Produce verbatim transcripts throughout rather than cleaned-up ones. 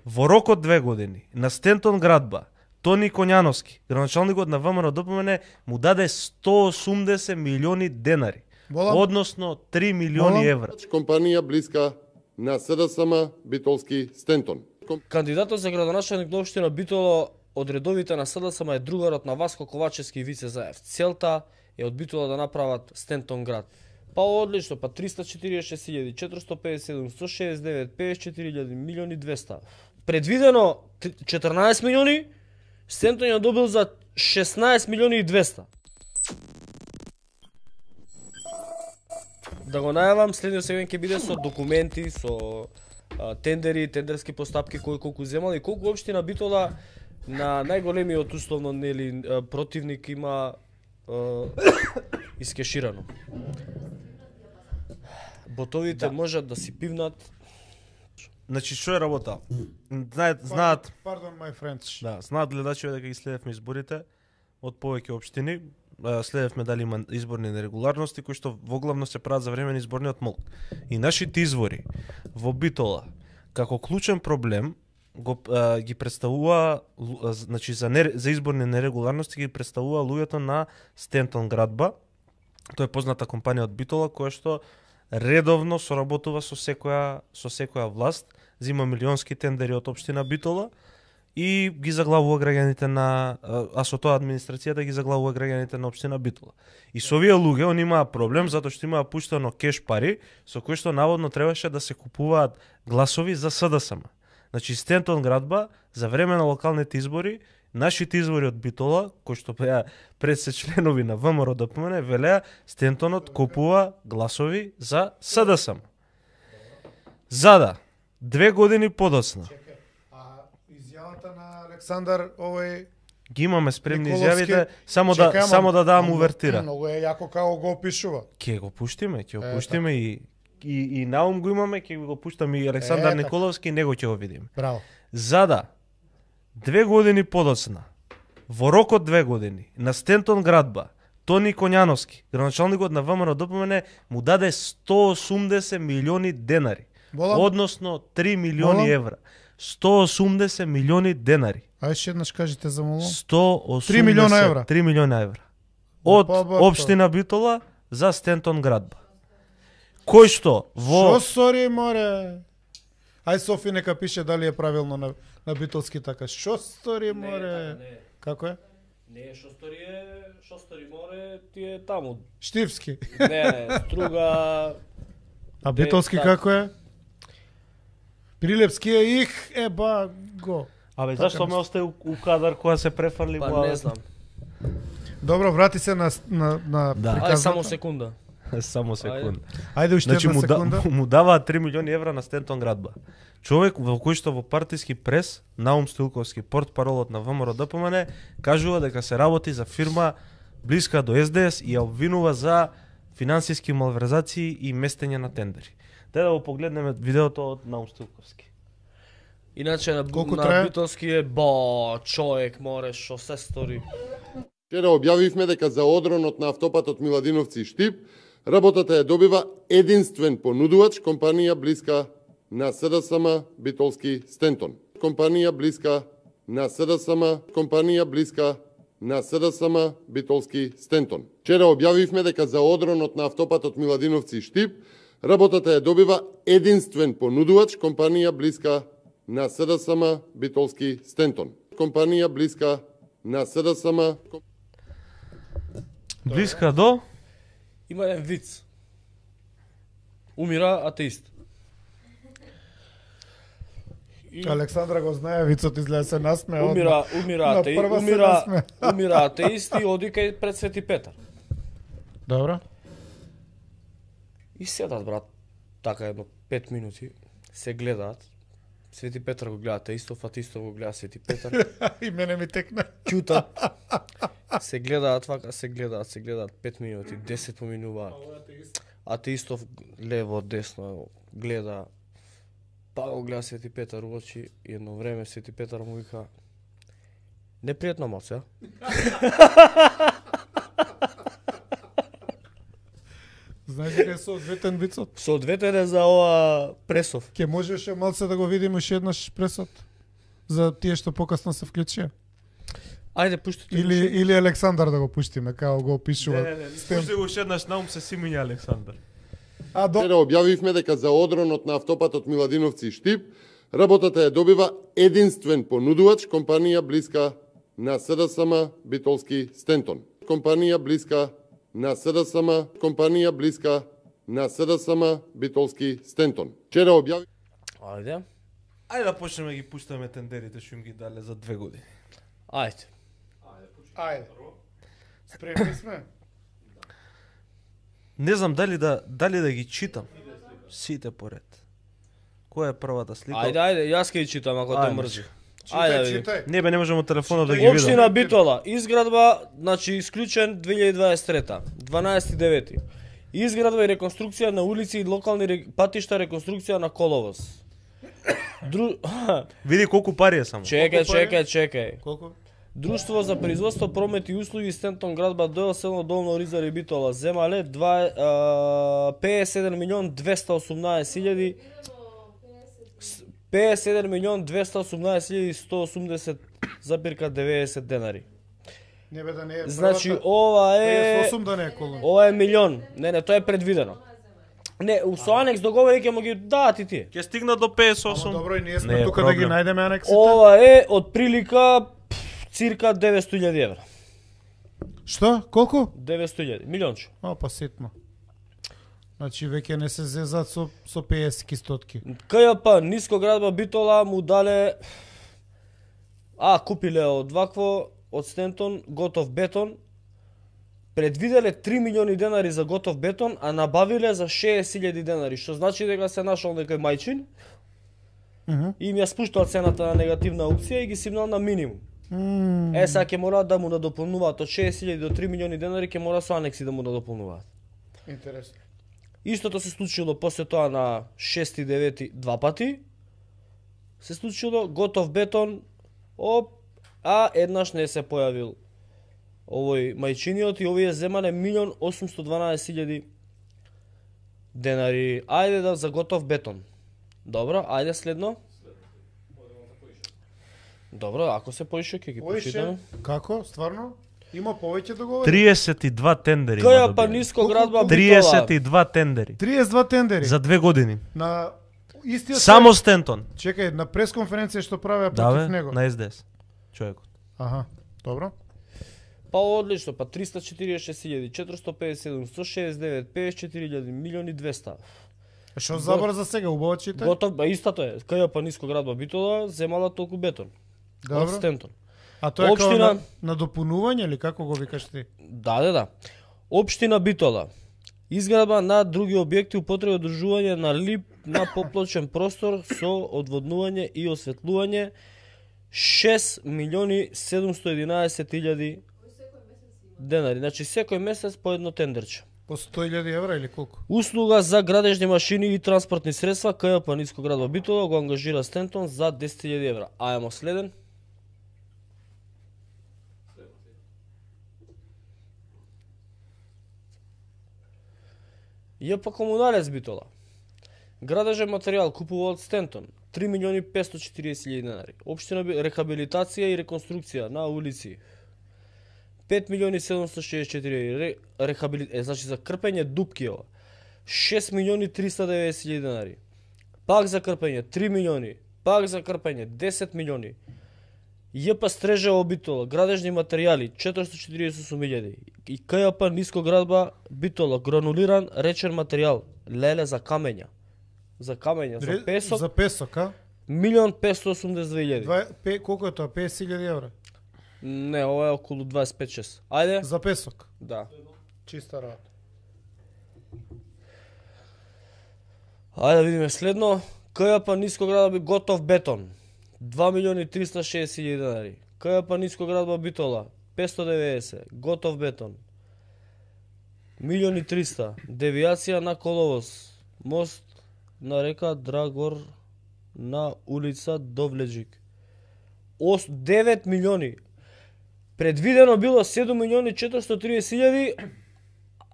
Во рок од две години на Стентон Градба Тони Коњановски, градоначалникот на ВМРО-ДПМН, му даде сто осумдесет милиони денари, Болам. односно три милиони евра. Компанија блиска на СДСМ Битолски Стентон. Кандидатот за градоначалник на општина Битола од редовите на СДСМ е другарот на Васко Ковачевски и Вице Заев. Целта е од Битола да направат Стентон град. Па одлично, па триста четириесет и шест илјади четиристотини пеесет и седум, сто шеесет и девет, пеесет и четири илјади, милиони и двесте. Предвидено четрнаесет милиони, Стентон ја добил за шеснаесет милиони и двесте. Да го најавам, следниот сегмент ќе биде со документи, со а, тендери, тендерски постапки, кој колку земал и колку општина Битола на најголемиот условно нели противник има а, искеширано. Ботовите да. можат да си пивнат. Значи што е работа? Знаат, знаат, Pardon my friends. да, знаат гледачите дека ги следевме изборите од повеќе општини. Следевме дали има изборни нерегуларности кои што во главно се прават за време на изборниот молк. И нашите извори во Битола како клучен проблем го а, ги представува, значи за не, за изборни нерегуларности ги представува луѓето на Стентон Градба. Тоа е позната компанија од Битола која што редовно соработува со секоја со секоја власт, зима милионски тендери од општина Битола и ги заглавува граѓаните на, а со тоа администрацијата ги заглавува граѓаните на општина Битола. И со овие луѓе они имаа проблем затоа што имаа пуштено кеш пари со кои што наводно требаше да се купуваат гласови за СДСМ. Значи Стентон Градба за време на локалните избори, нашите извори од Битола, кои што беа пред се членови на ВМРО-ДПМН, велеа Стентонот купува гласови за СДСМ. Зада две години подоцна Изјавата на Александар овој ги имаме спремни Николовски, изјавите, само чекај, да ама- само да дам ама увертира. Многу е јако како го опишува. Ќе го пуштиме, ќе го Е, пуштиме и и и наум го имаме, ќе го пуштаме и Александар Е, така. Николовски, него ќе го видиме. Браво. Зада две години подоцна, во рок од две години, на Стентон Градба, Тони Коњановски, градоначалникот на ВМРО-ДПМН, му даде сто осумдесет милиони денари, Болам. односно три милиони Болам. евра. сто осумдесет милиони денари. Ај ше еднаш кажете за молом. сто осумдесет Три милиона евра. три милиона евра. Од Па, ба, општина Битола за Стентон Градба. Кој што во Шо стори море? Ај Софи нека пише дали е правилно на на битолски така. Шо стори море? Како е? Не, што стори е, што стори море, ти е таму. Штивски. Не, не, струга. А битолски така. како е? Прилепски е их еба го. Абе, Така зашто ме нешто. остави у, у кадар кога се префрли Па глава? не знам. Добро, врати се на на на Да. Ај приказната. само секунда. Само секунда. Ајде уште Значи една му, да, секунда. му даваат три милиони евра на Стентон Градба. Човек во кој што во партиски прес, Наум Стоилковски, портпаролот на ВМРО-ДПМН, кажува дека се работи за фирма блиска до Ес Де Ес и ја обвинува за финансиски малверзации и местење на тендери. Дај да го погледнеме видеото од Наум Стоилковски. Иначе на, Колку на трае? Битолски е ба, човек море што се стори. Вчера објавивме дека за одронот на автопатот Миладиновци и Штип, работата ја добива единствен понудувач, компанија блиска на СДСМ Битолски Стентон. Компанија блиска на СДСМ, компанија блиска на СДСМ Битолски Стентон. Вчера објавивме дека за одронот на автопатот Миладиновци и Штип, работата ја добива единствен понудувач, компанија блиска на СДСМ Битолски Стентон. Компанија блиска на СДСМ. Блиска до Има еден виц. Умира атеист. И Александра го знае, вицот изгледа се насме. умира, умира На атеист, прва се умира, насме. умира атеист и оди кај пред Свети Петар. Добро. И седат, брат, така едно пет минути, се гледаат. Свети Петар го гледа атеистов, атеистов го гледа Свети Петар. И мене ми текна. Ќутат. Се гледаат вака, се гледаат, се гледаат пет минути, десет поминуваат. Атеистов лево, десно гледа. Па го гледа Свети Петар у очи и едно време Свети Петар му вика: непријатно малце, а? Знаеш дека е соодветен вицот? Соодветен е за ова пресов. Ке можеше малце да го видиме уште еднаш пресот? за тие што покасно се вклучија? Ајде пуштите. Или или Александар да го пуштиме, како го опишува. Не, не, не, пушти го уште еднаш наум се симиња Александар. А до Вчера објавивме дека за одронот на автопатот Миладиновци и Штип, работата ја добива единствен понудувач, компанија блиска на СДСМ Битолски Стентон. Компанија блиска на СДСМ, компанија блиска на СДСМ Битолски Стентон. Вчера објави Ајде. Ајде да почнеме да ги пуштаме тендерите што им ги дале за две години. Ајде. Ајде. Спремни сме. Не знам дали да дали да ги читам сите поред. Која е првата слика? Ајде, ајде, јас ќе ги читам ако те Ајде. мрзи. Читај, Ајде, види. читај. Не бе, не можам од телефонот да ги видам. Општина Битола, изградба, значи исклучен две илјади дваесет и трета, дванаесети девети. Изградба и реконструкција на улици и локални ре... патишта, реконструкција на коловоз. Дру... Види колку пари е само. чекај, Колку пари? чекај, чекај. Колку? Друштво за производство, промет и услуги Стентон градба Дојо село Долно Оризар и Битола земале два педесет и седум милион двеста и осумнаесет илјади педесет и седум милион двеста и осумнаесет илјади сто и осумдесет запирка деветдесет денари. Не бе да не е. Значи првата- ова педесет и е осум да не е колон. ова е милион. Не, не, тоа е предвидено. Не, у со анекс договори ќе му ги дадат и тие. Ќе стигнат до педесет и Ама осум. добро, и ние Не сме е тука да ги проблем. најдеме анексите. Ова е од прилика пф, цирка деветсто илјади евра. Што? Колку? деветсто илјади, милионче. А, па ситно. Значи веќе не се зезат со со педесет стотки. КЈП Ниско градба Битола му дале а купиле од вакво од Стентон готов бетон. Предвиделе три милиони денари за готов бетон, а набавиле за шеесет илјади денари, што значи дека се нашол некој мајчин Мгм. и им ја спуштал цената на негативна аукција и ги симнал на минимум. Мм. Е, сега ќе мораат да му надополнуваат од шеесет илјади до три милиони денари, ќе мора со анекси да му надополнуваат. Интересно. Истото се случило после тоа на шести и девети два пати. Се случило готов бетон, оп, а еднаш не се појавил овој мајчиниот и овие земале милион осумсто дванаесет илјади денари. Ајде да за готов бетон. Добро, ајде следно. Добро, ако се поише ќе ги почитаме. Поише, како? Стварно? Има повеќе договори? триесет и два тендери. има КЈП добиени. Ниско градба триесет Битола. и два тендери. триесет и два тендери. За две години. На истиот Само Стентон. Чекај, на пресконференција што правеа Да против бе, него. на Ес Де Ес. Човекот. Аха, добро. Па одлично, па триста и четиридесет и шест илјади, четиристотини и педесет и седум, сто шеесет и девет, педесет и четири илјади, милион и двеста. Што забрза сега, убаво читај. Готов, ба истото е. КЈП Ниско градба Битола земала толку бетон. Од Добро. Стентон. А тоа е Општина- како на, на допунување или како го викаш ти? Да, да, да. Општина Битола. Изградба на други објекти употреба одржување на лип на поплочен простор со одводнување и осветлување шест милиони седумсто и единаесет илјади денари. Значи секој месец по едно тендерче. По сто илјади евра или колку? Услуга за градежни машини и транспортни средства КЈП Ниско градба Битола го ангажира Стентон за десет илјади евра. Ајмо следен. ЈП Комуналец Битола. Градежен материјал купува од Стентон три милиони петстотини и четириесет илјади денари. Општина Би- рехабилитација и реконструкција на улици пет милиони седумсто шеесет и четири илјади. Рехабили... е, значи за крпење дупки ова. шест милиони триста и деветдесет илјади денари. Пак за крпење три милиони. Пак за крпење десет милиони. ЈП Стрежево Битола, градежни материјали четиристотини и четиридесет и осум илјади. И КЈП Ниско градба Битола, гранулиран речен материјал, леле за камења. За камења, за Ре- песок, За песок, а? милион петстотини и осумдесет и две илјади. Два, пе, колку е тоа? педесет илјади евра. Не, ова е околу дваесет и пет шест. Ајде? За песок. Да. Чиста работа. Ајде да видиме следно. КЈП Ниско градба готов бетон. два милиони триста и шеесет илјади денари. КЈП Ниско градба Битола петстотини и деветдесет. Готов бетон. Милион и триста. Девијација на коловоз. Мост на река Драгор на улица Довледжик. Ос девет милиони. Предвидено било седум милиони четиристотини и тридесет илјади,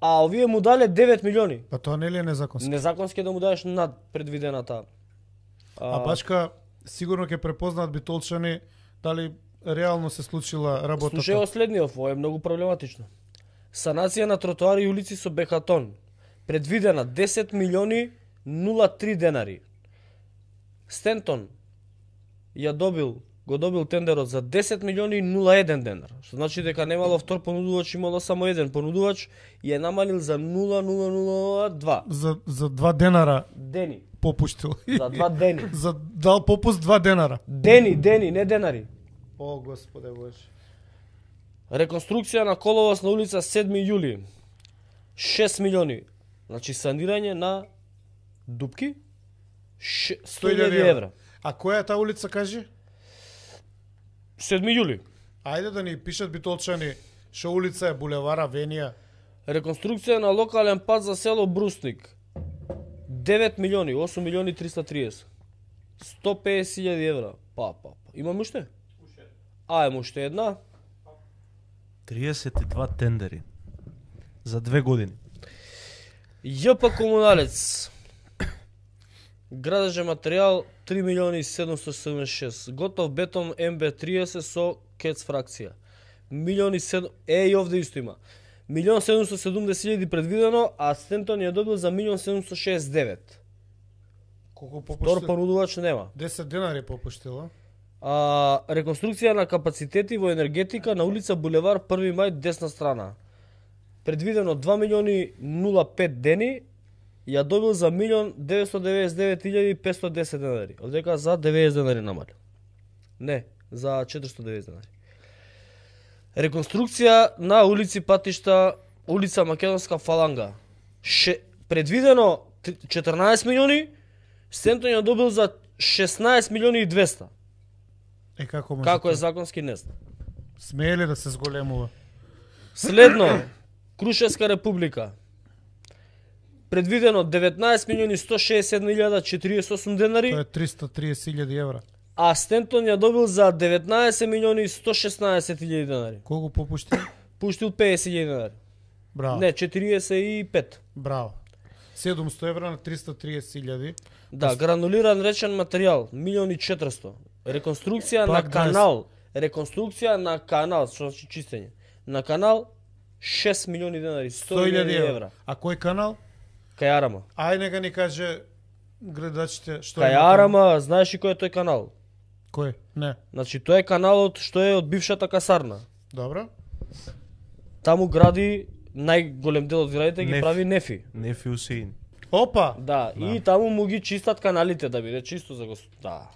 а овие му дале девет милиони. Па тоа нели е незаконски? Незаконски е да му дадеш над предвидената. А бачка сигурно ќе препознаат битолчани дали реално се случила работата. Слушај следниот, ова е многу проблематично. Санација на тротоари и улици со бехатон предвидена десет милиони нула три денари. Стентон ја добил, го добил тендерот за десет милиони нула еден денар, што значи дека немало втор понудувач, имало само еден понудувач и е намалил за нула нула нула два За за два денара дени. попуштил. За два дени. За дал попуст два денара. Дени, дени, не денари. О, Господе Боже. Реконструкција на коловоз на улица седми јули. шест милиони. Значи санирање на дупки ше- сто илјади евра. А која е таа улица, кажи? седми јули. Ајде да ни пишат битолчани, што улица е булевара Венија. Реконструкција на локален пат за село Брусник. девет милиони, осум милиони триста триесет. сто песет илјади евра. Па, па, па. Имаме уште? А, емо уште една. триесет и два тендери за две години. ЈП Комуналец. Градежен материјал три милиони седумстотини седумдесет и шест. Готов бетон М Б триесет со кец фракција. Милиони седум... Е, и овде исто има. Милион седумстотини седумдесет илјади предвидено, а Стентон ја добил за милион седумстотини шеесет и девет. Колку Втор попуштил? понудувач нема. десет денари попуштила. А, реконструкција на капацитети во енергетика на улица Булевар први мај десна страна. Предвидено два милиони нула пет дени, ја добил за милион деветстотини деветдесет и девет илјади петстотини и десет денари. Одека за деветдесет денари намалил. Не, за четиристотини и деветдесет денари. Реконструкција на улици патишта, улица Македонска фаланга. Ше, предвидено четрнаесет милиони, Стентон ја добил за шеснаесет милиони и двесте. Е, како може? Како е тоа? законски не знам. Смее ли да се зголемува? Следно, Крушевска република. Предвидено деветнаесет милиони сто шеесет и едно илјада четириесет и осум денари, Тоа е триста и триесет илјади евра. а Стентон ја добил за деветнаесет милиони сто шеснаесет илјади денари. Колку попуштил? Пуштил песет илјади денари. Браво. Не, четириесет и пет. Браво. седумсто евра на триста и триесет илјади. Да, гранулиран речен материјал, милиони и четиристотини. Реконструкција Пак на канал, реконструкција на канал, што значи чистење. На канал шест милиони денари, сто илјади евра. А кој канал? Кајарама. Ај нека ни каже гледачите што е. Кајарама, знаеш ли кој е тој канал? Кој? Не. Значи, тој е каналот што е од бившата касарна. Добро. Таму гради најголем дел од градите ги Неф. прави Нефи. Нефи Усеин. Опа. Да, и таму му ги чистат каналите да биде чисто за гос... Да.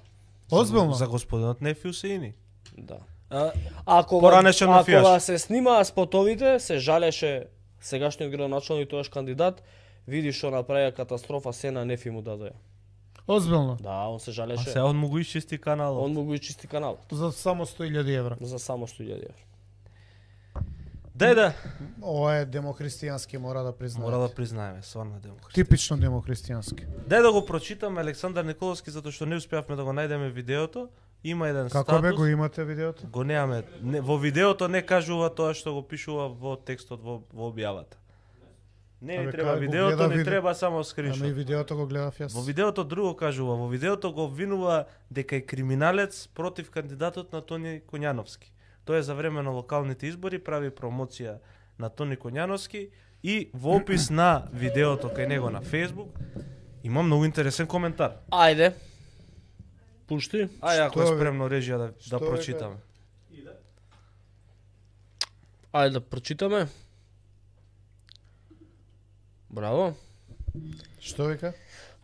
Озбилно. За господинот Нефи Усеини. Да. А, ако Поранешен ако мафијаш. ва се снимаа спотовите, се жалеше сегашниот градоначалник тоаш кандидат, види што направија катастрофа, се на Нефи му дадоја. Озбилно. Да, он се А жалеше. сега он му го исчисти каналот. Он му го ичисти каналот За само сто илјади евра. за само сто илјади евра. Дај да. Ова е демохристијански, мора да признаат. Мора да признаеме, стварно демократ. Типично демохристијански. Дај да го прочитаме Александар Николовски затоа што не успеавме да го најдеме видеото. Има еден Како статус. бе го имате видеото? Го немаме. Не, во видеото не кажува тоа што го пишува во текстот во, во објавата. Не ни Абе, треба кај го видеото, гледа ни видео- треба само Ама и скриншот. видеото го гледав јас. Во видеото друго кажува, во видеото го обвинува дека е криминалец против кандидатот на Тони Коњановски. Тој е за време на локалните избори прави промоција на Тони Коњановски и во опис на видеото кај него на Facebook има многу интересен коментар. Ајде. Пушти. Ај ако е Што, бе? спремно режија да, Што, да бе, прочитаме. Ајде да прочитаме. Браво. Што вика?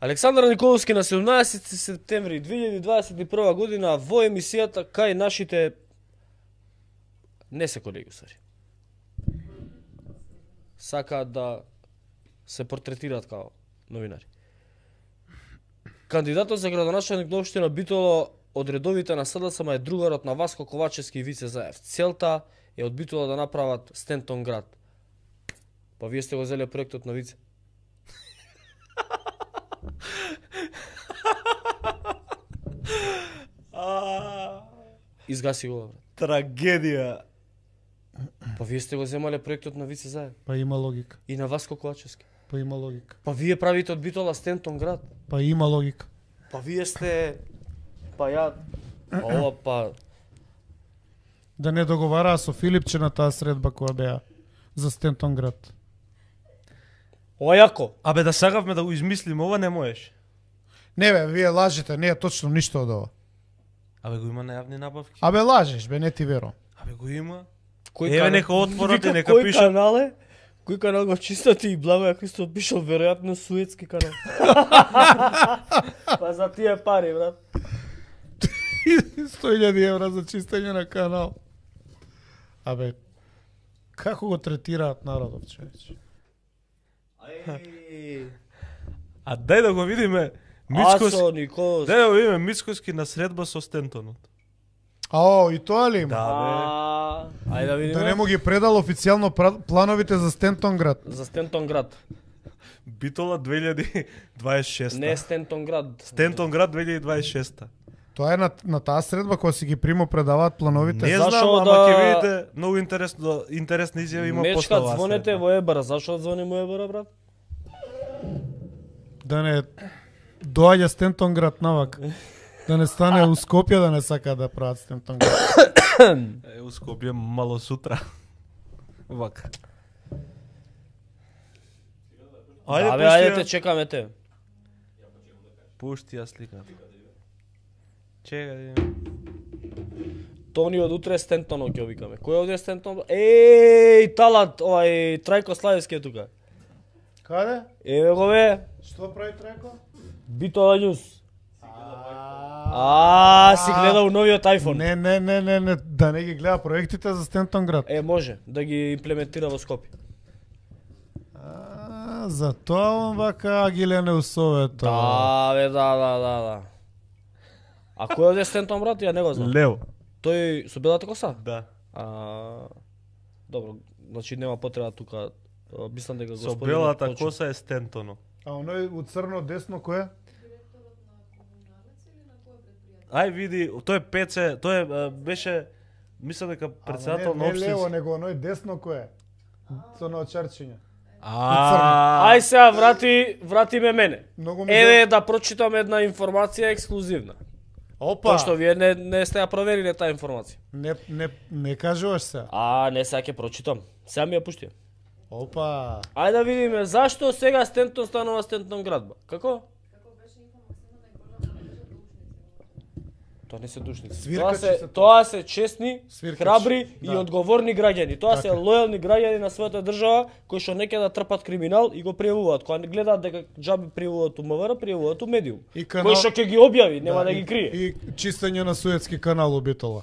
Александар Николовски на седумнаесети септември две илјади дваесет и прва година во емисијата кај нашите не се колеги усари. Сакаат да се портретираат као новинари. Кандидатот за градоначалник на општина Битола од редовите на СДСМ е другарот на Васко Ковачевски и Вице Заев. Целта е од Битола да направат Стентон град. Па вие сте го зеле проектот на Вице. Изгаси го, брат. Трагедија. Па вие сте го земале проектот на Вице Заев Па има логика. и на Васко Ковачевски. Па има логика. Па вие правите од Битола Стентон град. Па има логика. Па вие сте па ја, па ова па Да не договараа со Филипче на таа средба која беа за Стентон град. ова јако. Абе да сакавме да го измислиме, ова не можеш. Не бе, вие лажете, не е точно ништо од ова. Абе го има на јавни набавки. Абе лажеш, бе, не ти верувам. Абе го има. Кој Еве канал- нека отворат и Вика, нека кој пишат. канал е? Кој канал го чистати и Благоја Христов пишал веројатно суетски канал. Па за тие пари, брат. сто илјади евра за чистење на канал. Абе, како го третираат народот, човече? А дај да го видиме Мицкос. Асо Николос. Дај да го видиме Мицкоски на средба со Стентонот. Ао, и тоа ли има? Да, бе. А, ајде да видиме. Да не му ги предал официјално пра- плановите за Стентон град. За Стентон град. Битола две илјади дваесет и шеста. Не Стентон град. Стентон град две илјади дваесет и шеста. Тоа е на, на таа средба која си ги примо предаваат плановите. Не Зашо знам, ама да- ќе видите многу интересно интересна изјава има после Мечкат оваа звонете средба. во Ебара. Зашо звони во Ебара, брат? Да не доаѓа Стентон град навак. Да не стане у Скопје да не сака да прават Стентон град. Е, у Скопје мало сутра. Вака. Ајде, Да, бе, пушти ајде ја- те чекаме те. Пушти ја сликата. Чека да видиме. Тони од утре Стентонот ќе викаме. Кој овде е Стентон? Еј, талант, овај Трајко Славевски е тука. Каде? Еве го бе, Што прави Трајко? Битола Њуз. А, си гледал новиот iPhone. Не, не, не, не, не, да не ги гледа проектите за Стентон град. Е, може да ги имплементира во Скопје. А, за тоа он вака агилен е усовето. Да, бе, да, да, да, да. А кој е овде Стентон, брат? Ја не го знам. Лево. Тој со белата коса? Да. А, добро, значи нема потреба тука. а, Мислам дека Со господинот белата почна. коса е Стентоно. А оној у црно десно кој е? Ај види, тој е Пеце, тој е, а, беше мислам дека председател Ама на не, не лево, општински. него оној десно кој е? Со наочарчиња. А, Ај сега врати, врати ме мене. Многу ми Еве да прочитам една информација ексклузивна. Опа! Пошто вие не, не сте ја провериле таа информација. Не, не, не кажуваш се. А, не сега ќе прочитам. Сега ми ја пушти. Опа! Ајде да видиме зашто сега Стентон станува Стентон градба. Како? Тоа не се душници. Тоа Свиркачи се, се тоа. тоа се честни, Свиркачи, храбри да. и одговорни граѓани. Тоа се Така. лојални граѓани на својата држава кои што не ќе да трпат криминал и го пријавуваат. Кога не гледаат дека џаби пријавуваат у МВР, пријавуваат у медиум. И канал- Кој што ќе ги објави, нема да, и- ги крие. И чистење на Суетски канал у Битола.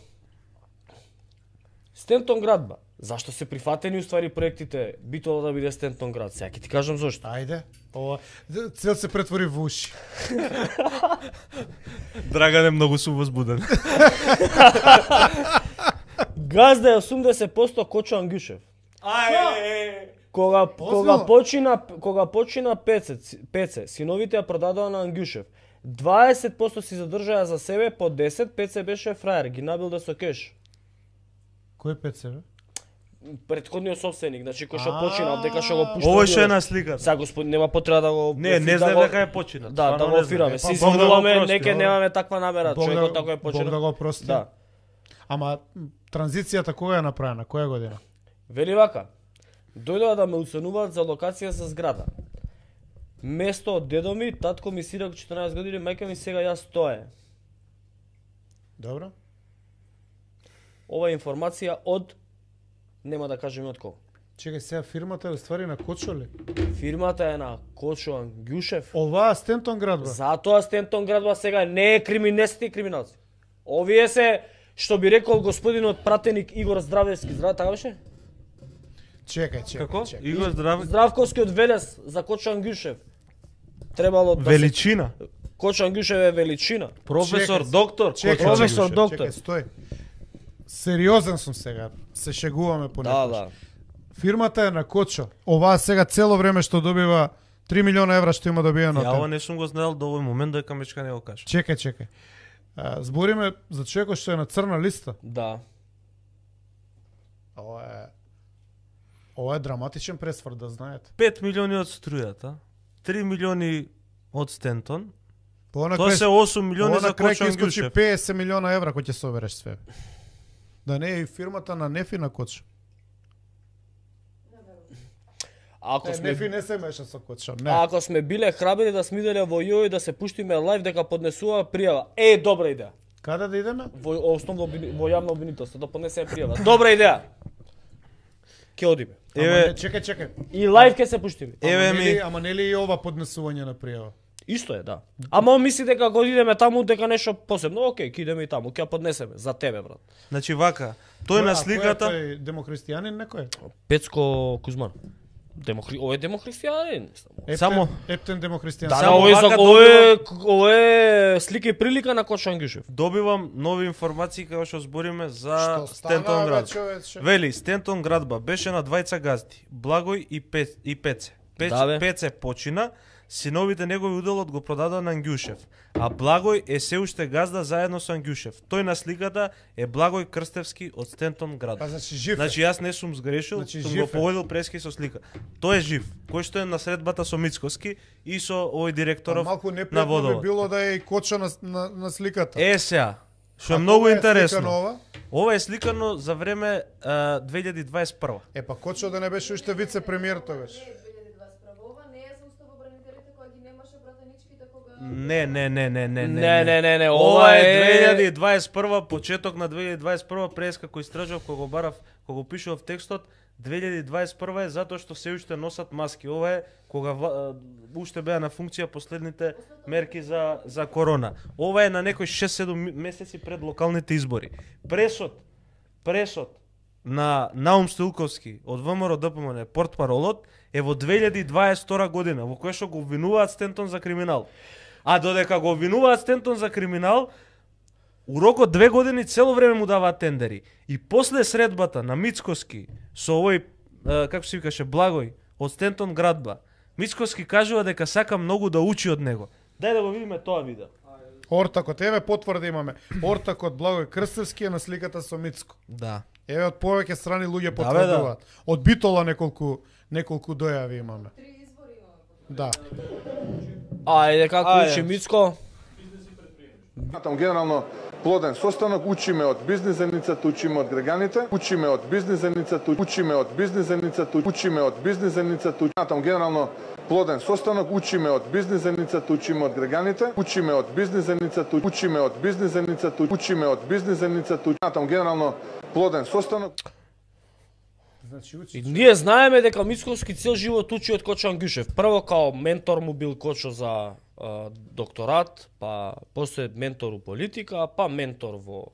Стентон градба. Зашто се прифатени уствари проектите Битола да биде Стентон град? Сега ќе ти кажам зошто. Ајде. Ова цел се претвори во уши. Драган е многу су возбуден. Газда е осумдесет проценти Кочо Ангјушев. Ај! Кога Озбилно? кога почина кога почина Пеце, Пеце, синовите ја продадоа на Ангјушев. дваесет проценти си задржаа за себе, по десет Пеце беше фраер, ги набилде со кеш. Кој пеце бе? Претходниот собственик, значи кој што А. починал, дека што го пушта. Ово што е на сликата. Сега господин нема потреба да го Не, не да знам го- дека е починат. Да, да Стварно го не знам. офираме. Е, Се па, Бог да го извинуваме, прости, неке ова. немаме таква намера, Бог човекот да- тако е Бог починал. да го прости. Да. Ама м, транзицијата кога е направена? Која година? Вели вака, дојдоа да ме уценуваат за локација за зграда. Место од дедо ми, татко ми сирак четинаесет години, мајка ми сега јас тоа е. Добро. Ова е информација од, нема да кажем од кого. Чекај, сега фирмата е уствари на Кочо ли? Фирмата е на Кочо Ангјушев. Оваа Стентон градба. Затоа Стентон градба сега не е криминести криминалци. Овие се, што би рекол господинот пратеник Игор Здравевски, здрав, така беше? Чекај, чекај. Како? чекај. Игор Здраве. Здравковскиот Велес за Кочо Ангјушев. Требало да се... Величина. Кочо Ангјушев е величина. Професор, Чекај, доктор. Чекај, Кочо професор, Ангјушев. доктор. Чекај, стој. Сериозен сум сега. Се шегуваме Да, понекогаш. да. Фирмата е на Кочо. Оваа сега цело време што добива три милиона евра што има добиено. Ја ова не сум го знаел до овој момент дека Мечка не го кажа. Чекај, чекај. А, збориме за човекот што е на црна листа. Да. Ова е Ова е драматичен пресврт, да знаете. пет милиони од струјата, три милиони од Стентон, Па она Тоа крај- се осум милиони Ова за на крај Кочо ќе искочи Ангјушев. петдесет милиона евра кој ќе собереш све. Да не е и фирмата на Нефи на Кочо. Ако Не, сме Нефи не се меша со Кочо. Не. ако сме биле храбри да смиделе во јој да се пуштиме лайв дека поднесува пријава. Е, добра идеја. Каде да идеме? Во основно обвини- во јавно обвинителство да поднесеме пријава. Добра идеја. Ќе одиме. Ама Еве- не, чекај, чекај. И лайв ќе се пуштиме. Еве ама, ми- нели, ама нели и ова поднесување на пријава? Исто е, да. Ама он мисли дека кога идеме таму дека нешто посебно, окей, ќе идеме и таму, ќе ја поднесеме за тебе, брат. Значи вака, тој на сликата, Тој демохристијанин некој? Пецко Кузман. Демохри... Ој е демохристијанин. Ептен, Само- Ептен демохристијан. Да, Само да, ој вака за ој ој е слика и прилика на Кочо Ангјушев. добивам нови информации кога што збориме за Што Стентон стана, бе, град. човече? Вели, Стентон градба беше на двајца газди, Благој и, Пе, и Пеце. Пеце, Да, бе. Пеце почина, синовите негови уделот го продадоа на Ангјушев, а Благој е се уште газда заедно со Ангјушев. Тој на сликата е Благој Крстевски од Стентон град. Па значи жив е. Значи јас не сум сгрешил, Значи, сум жив го е. поводил прески со слика. Тој е жив, кој што е на средбата со Мицкоски и со овој Па директоров малку на непријатно би водовод. било да е и Кочо на, на, на сликата. Е сега, што е А многу кога е интересно. сликано ова? Ова е сликано за време а, две илјади дваесет и прва. Е па Кочо да не беше уште вице-премиер тогаш. Ова не е за уставобранителите кога ги немаше пратеничките кога Не, не, не, не, не, Не, не, не, не, Ова ова е е две илјади дваесет и прва, почеток на две илјади дваесет и прва, преска кој истражав, кога го барав, кога го пишував текстот, две илјади дваесет и прва е затоа што се уште носат маски. Ова е кога ва- а, уште беа на функција последните мерки за за корона. Ова е на некои шест-седум ми- месеци пред локалните избори. Пресот, пресот на Наум Стоилковски од ВМРО Д П М Н, портпаролот, е во две илјади дваесет и втора година, во која што го обвинуваат Стентон за криминал. А додека го обвинуваат Стентон за криминал, у рокот две години цело време му даваат тендери. И после средбата на Мицкоски со овој, е, како се викаше, Благој, од Стентон градба, Мицкоски кажува дека сака многу да учи од него. Дај да го видиме тоа видео. Ортакот, еве потврда имаме. Ортакот Благој Крстевски е на сликата со Мицко. Да. Еве од повеќе страни луѓе Да, бе, да. потврдуваат. Од Битола неколку неколку дојави имаме. три избори имаме. Да. Ајде како Ајде. учи Мицко? Сметам генерално плоден состанок, учиме од бизнис заедницата, учиме од граѓаните, учиме од бизнис заедницата, учиме од бизнис заедницата, учиме од бизнис заедницата. Сметам генерално плоден состанок, учиме од бизнис заедницата, учиме од граѓаните, учиме од бизнис заедницата, учиме од бизнис заедницата, учиме од бизнис заедницата. Сметам генерално плоден состанок. Значи И учи. ние знаеме дека Мицковски цел живот учи од Кочо Ангјушев. Прво као ментор му бил Кочо за а, докторат, па после ментор у политика, па ментор во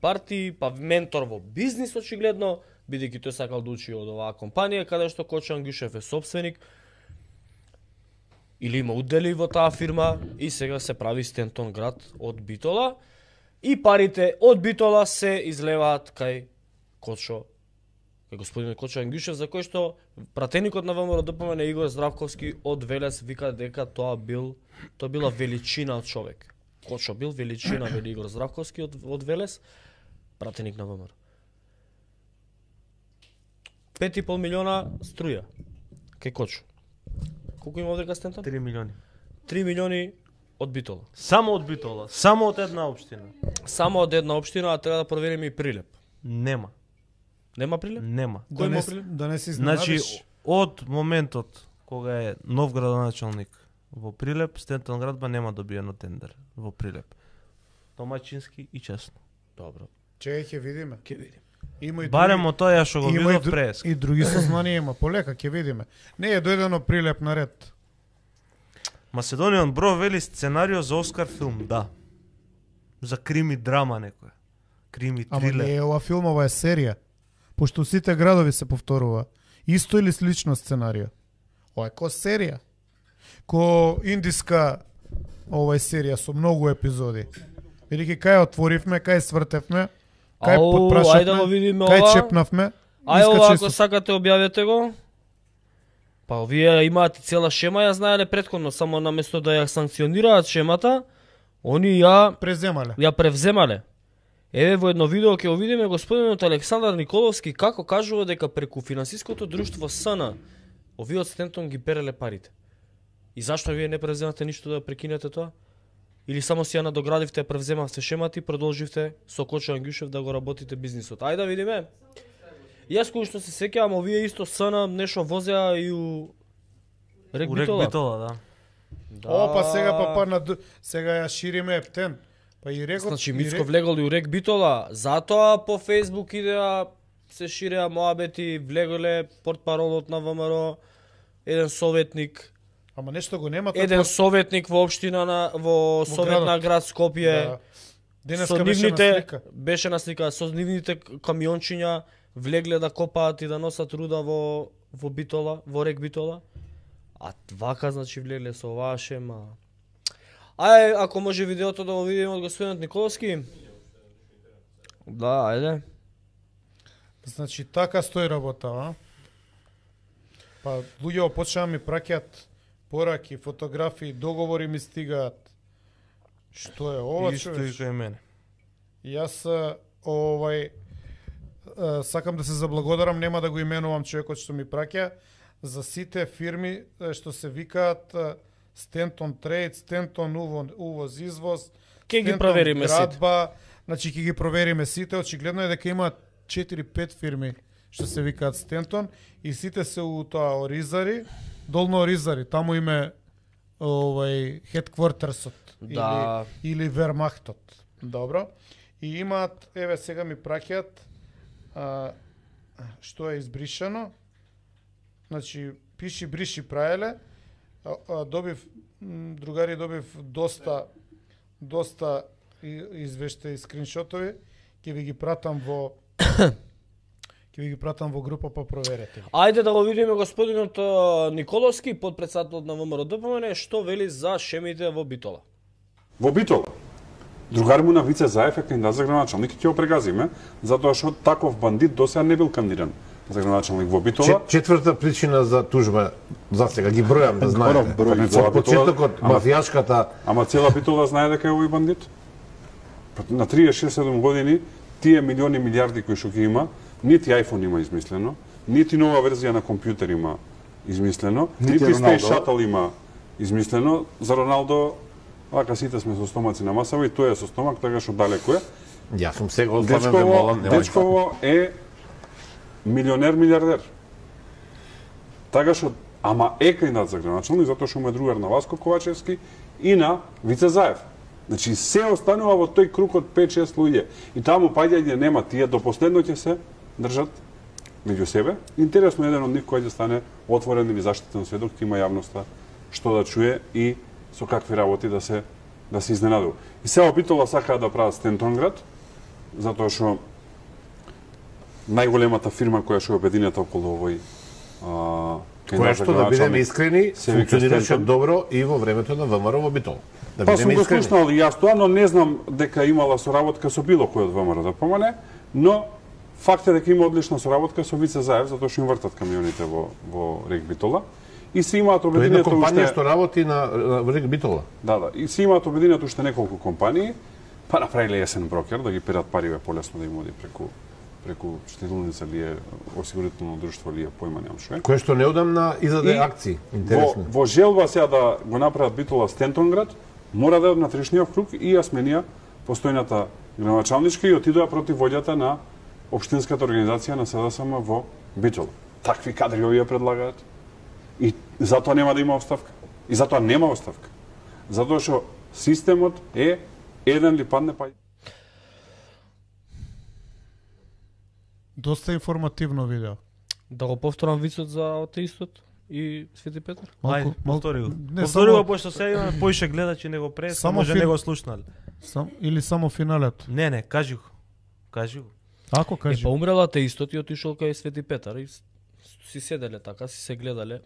партии, па ментор во бизнис очигледно, бидејќи тој сакал да учи од оваа компанија каде што Кочо Ангјушев е собственик или има удели во таа фирма и сега се прави Стентон град од Битола и парите од Битола се излеваат кај Кочо кај господин Кочо Ангјушев, за кој што пратеникот на ВМРО Д П М Н Игор Здравковски од Велес вика дека тоа бил тоа била величина од човек. Кочо бил величина, вели Игор Здравковски од, од Велес, пратеник на ВМРО. пет и пол милиона струја кај Кочо. Колку има овде Стентон? три милиони. три милиони од Битола. Само од Битола, само од една општина. Само од една општина, а треба да провериме и Прилеп. Нема, Нема Прилеп? нема. Да Кој не, му с- Прилеп? да не се Значи, изненадиш. од моментот кога е нов градоначалник во Прилеп, Стентон градба нема добиено тендер во Прилеп. Домаќински и честно. Добро. Чеј ќе видиме. Ќе видиме. Има и Барем други- од тоа ја што го има и, видов дру- преск. и други сознанија има, полека ќе видиме. Не е дојдено Прилеп на ред. Macedonian Bro вели сценарио за Оскар филм, да. За крими драма некоја. Крими Ама трилер. не е ова филм, ова е серија. Пошто сите градови се повторува. Исто или слично сценарио. Ова е ко серија. Ко индиска ова е серија со многу епизоди. Велики кај отворивме, кај свртевме, кај Ау, подпрашавме, ајде да го видиме кај ова. чепнавме. Ај искачи ова, со- ако сакате, објавете го. Па овие имаат и цела шема, ја знаеле претходно, само наместо да ја санкционираат шемата, они ја преземале. ја превземале. Еве во едно видео ќе го видиме господинот Александар Николовски како кажува дека преку финансиското друштво С Н овие од Стентон ги переле парите. И зашто вие не превземате ништо да прекинете тоа? Или само си ја надоградивте, превземавте шемата и продолживте со Кочо Ангјушев да го работите бизнисот. Ајде да видиме. Јас кој што се сеќавам, овие исто СН нешто возеа и у Рек У Рек Битола. Битола, да. Да. О, па сега па па на сега ја шириме Ептен. Па и рекот. Значи и Мицко рек- влегол и у Рек Битола, затоа по Фейсбук идеа се ширеа моабети, влеголе портпаролот на ВМРО, еден советник, Ама нешто го нема тој еден пат- советник во општина на во совет на градот. град Скопје. Да. Денеска Со беше на нивните слика. беше на слика со нивните камиончиња влегле да копаат и да носат руда во во Битола, во Рек Битола. А вака значи влегле со оваа шема. Ај, ако може видеото да го видиме од господинот Николовски. Да, ајде. Значи така стои работа, а? Па луѓе почнаа ми праќаат пораки, фотографии, договори ми стигаат. Што е ова, Исто и човеш? кај мене. Јас а, овај а, сакам да се заблагодарам, нема да го именувам човекот што ми праќа, за сите фирми а, што се викаат а, Stanton Trade, Stanton Uvo- увоз извоз. Ке ги Stanton провериме сите. градба, значи ќе ги провериме сите. Очигледно е дека има четири-пет фирми што се викаат Stanton и сите се у тоа Оризари, долно Оризари, таму име овај headquartersот Да. или или Вермахтот. Добро. И имаат, еве сега ми праќаат а, што е избришано. Значи пиши бриши праеле. А, а, добив м, другари добив доста доста и- извештаи и скриншотови. Ќе ви ги пратам во ќе ви ги пратам во група па проверете. Ајде да го видиме господинот а, Николовски, подпредседател на ВМРО ДПМН, што вели за шемите во Битола. Во Битола. Другар му на Вице Заев е кандидат за градоначалник и ќе го прегазиме, затоа што таков бандит досега не бил кандидиран за градоначалник во Битола. Чет, четврта причина за тужба, за сега ги бројам да знаете. Па не цела Од почетокот Битола, ама- мафијашката Ама цела Битола знае дека е овој бандит. Па на триесет шест седум години тие милиони милиарди кои што ги има, нити iPhone има измислено, нити нова верзија на компјутер има измислено, Нити нити Space Роналдо. Shuttle има измислено. За Роналдо вака сите сме со стомаци на масава и тој е со стомак, така што далеко е. Јас сум сега ослабен ве Дечково, молам, нема Дечково е милионер милиардер. Така што, ама е кандидат за градоначалник затоа што му е другар на Васко Ковачевски и на Вице Заев. Значи се останува во тој круг од пет-шест луѓе. И таму паѓање нема, тие до последно ќе се држат меѓу себе. Интересно еден од нив кој ќе стане отворен или заштитен сведок, ќе има јавноста што да чуе и со какви работи да се да се изненадува. И сега Битола сакаа да прават Стентонград, затоа што најголемата фирма која што е обединета околу овој а, Која кандидат за што да бидеме градоначалник, искрени, се вика функционираше Стентон. добро и во времето на ВМРО во Битол. Да Па сум бидеме го искрени. слушнал и јас тоа, но не знам дека имала соработка со било кој од ВМРО да помане, но факт е дека има одлична соработка со Вице Заев, затоа што им вртат камионите во во Рек Битола. И се имаат Тоа е една обединето компанија уште што работи на, на Рек Битола. да, да, и се имаат обединето уште неколку компании, па направиле есен брокер да ги перат париве полесно да им оди преку преку штедилница или е осигурително друштво или е појма немам што е. Кој што неодамна издаде И акции. Во, Интересно. во желба сега да го направат Битола Стентонград, мора да од внатрешниот круг и ја сменија постојната градоначалничка и отидоа против воѓата на општинската организација на СДСМ во Битола. Такви кадри овие предлагаат. И затоа нема да има оставка. И затоа нема оставка. Затоа што системот е еден ли падне па Доста информативно видео. Да го повторам вицот за атеистот и Свети Петар? Ајде, повтори го. Не, Повтори го, само, пошто сега имаме поише гледачи него прес, Само може фил- не го слушнали. сам, или само финалето. Не, не, кажи го. Кажи го. Ако Е, кажи. па умрел атеистот и отишол кај Свети Петар и с- си седеле така, си се гледале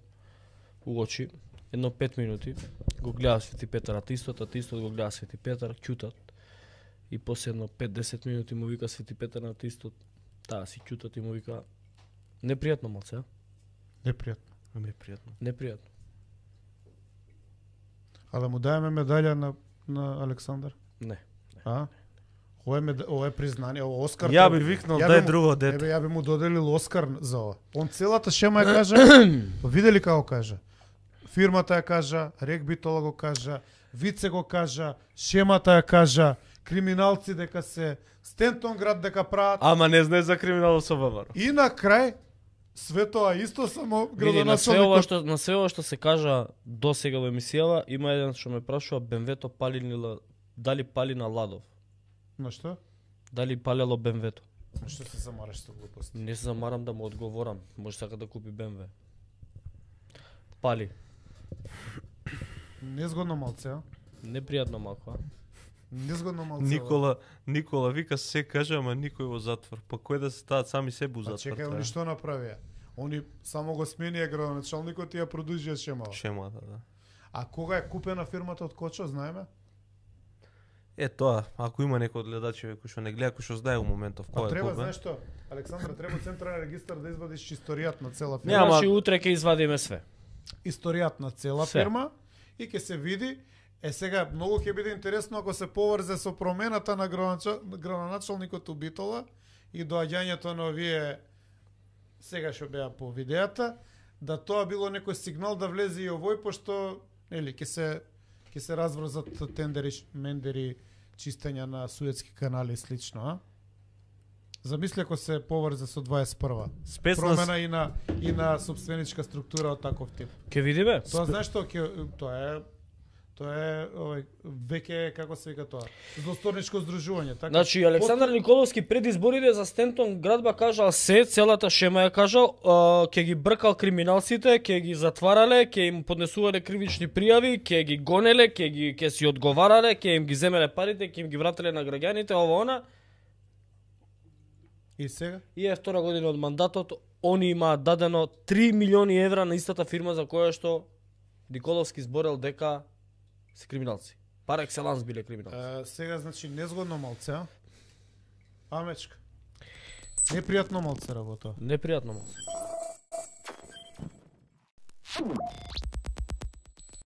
у очи, едно пет минути, го гледа Свети Петар атеистот, атеистот го гледа Свети Петар, ќутат. И после едно пет-десет минути му вика Свети Петар на атеистот, таа си ќутат и му вика, непријатно малце, а? Непријатно. Ми е пријатно. Непријатно. А да му даеме медаља на на Александар? Не. А? Ова е, мед... ова е признание, ова Оскар. Ја тоа- би викнал, ја дај му- друго дете. Ебе, ја би му доделил Оскар за ова. Он целата шема ја кажа, видели како кажа. Фирмата ја кажа, Рек Битола го кажа, Вице го кажа, Шемата ја кажа, криминалци дека се Стентон град дека прават. Ама не знае за криминал со ВМРО. И на крај све тоа исто само Види, на све ова градоначалникот. што на све ова што се кажа до сега во емисијава, има еден што ме прашува БМВ-то пали ли ла- дали пали на Ладов? На што? Дали палело БМВ-то? На што се замараш со глупости? Не се замарам да му одговорам. Може сака да купи БМВ. Пали. Незгодно малце, а? Непријатно малку, а? Незгодно малце. Никола, Никола вика се каже, ама никој во затвор. Па кој да се стават сами себе во Па затвор? чекај, они што направија? Они само го сменија градоначалникот и ја продолжија шемава. Шемата, да. А кога е купена фирмата од Кочо, знаеме? Е тоа, ако има некој од гледачите кој што не гледа, кој што знае во моментов Па кој е треба, купен. знаеш што? Александра, треба централен регистар да извадиш историјат на цела Не, фирма. значи утре ќе извадиме све. Историјат на цела Се. фирма и ќе се види. Е сега многу ќе биде интересно ако се поврзе со промената на градоначал- градоначалникот у Битола и доаѓањето на овие сега што беа по видеата, да тоа било некој сигнал да влезе и овој, пошто нели ќе се ќе се разврзат тендери, мендери, чистење на суетски канали и слично, а? Замисли ако се поврзе со дваесет и прва. Спец на Промена и на и на собственичка структура од таков тип. Ќе видиме. Тоа знаеш што ќе тоа е тоа е овој веќе како се вика тоа? Злосторничко здружување, така. Значи Александар Николовски пред изборите за Стентон градба кажал се, целата шема ја кажал, а, ќе ги бркал криминалците, ќе ги затварале, ќе им поднесувале кривични пријави, ќе ги гонеле, ќе ги ќе си одговарале, ќе им ги земеле парите, ќе им ги врателе на граѓаните, ова она. И сега? И е втора година од мандатот, они имаат дадено три милиони евра на истата фирма за која што Николовски зборел дека се криминалци. Пар екселанс биле криминалци. Е, сега значи незгодно малце, а? Амечка. Непријатно малце работа. Непријатно малку.